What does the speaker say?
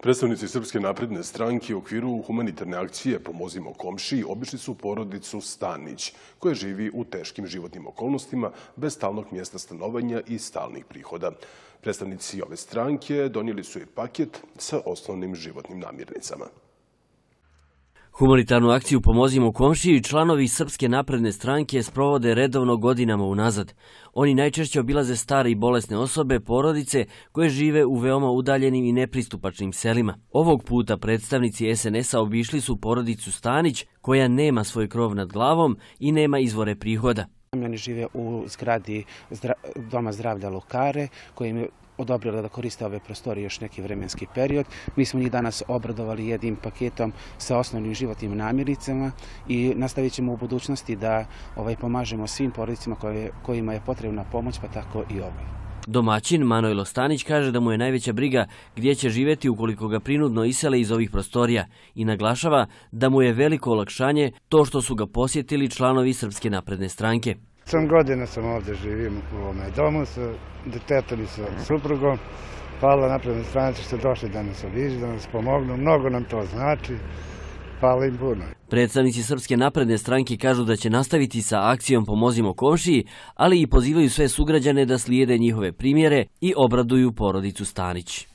Predstavnici Srpske napredne stranke u okviru humanitarne akcije Pomozimo komšiji obišli su porodicu Stanić, koja živi u teškim životnim okolnostima, bez stalnog mjesta stanovanja i stalnih prihoda. Predstavnici ove stranke donijeli su i paket sa osnovnim životnim namirnicama. Humanitarnu akciju Pomozimo komšiji članovi Srpske napredne stranke sprovode redovno godinama unazad. Oni najčešće obilaze stare i bolesne osobe, porodice koje žive u veoma udaljenim i nepristupačnim selima. Ovog puta predstavnici SNS-a obišli su porodicu Stanić, koja nema svoj krov nad glavom i nema izvore prihoda. Oni žive u zgradi Doma zdravlja Lokare, koji im je odobrila da koriste ove prostorije još neki vremenski period. Mi smo njih danas obradovali jednim paketom sa osnovnim životnim namirnicama i nastavit ćemo u budućnosti da pomažemo svim porodicama kojima je potrebna pomoć, pa tako i ovoj. Domaćin Manojlo Stanić kaže da mu je najveća briga gdje će živjeti ukoliko ga prinudno isele iz ovih prostorija i naglašava da mu je veliko olakšanje to što su ga posjetili članovi Srpske napredne stranke. 8 godina sam ovdje živim u ovome domu sa detetom i sa suprugom. Hvala naprednoj stranci što ste došli da nas obiđu, da nas pomognu. Mnogo nam to znači. Hvala im puno. Predstavnici Srpske napredne stranke kažu da će nastaviti sa akcijom Pomozimo komšiji, ali i pozivaju sve sugrađane da slijede njihove primjere i obraduju porodicu Stanić.